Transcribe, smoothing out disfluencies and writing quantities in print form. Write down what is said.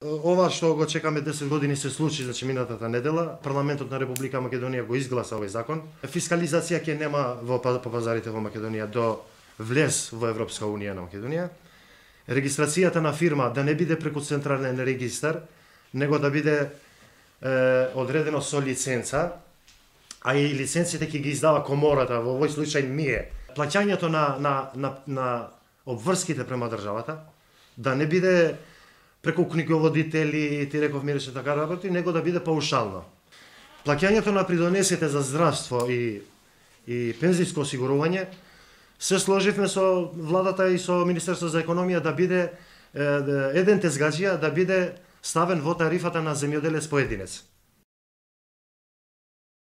Ова што го чекаме 10 години се случи, значи минатата недела. Парламентот на Република Македонија го изгласа овој закон. Фискализација ќе нема по пазарите во Македонија до влез во Европска унија на Македонија. Регистрацијата на фирма да не биде преку централен регистар, него да биде одредено со лиценца, а и лиценците ќе ги издава комората, во овој случај ние. Плаќањето на обврските према државата да не биде преку книговодители, ти реков миреше така работи, него да биде паушално. Плаќањето на придонесите за здравство и пензиско осигурување се сложивме со владата и со Министерство за економија да биде еден тезгаџија да биде ставен во тарифата на земјоделец поединец.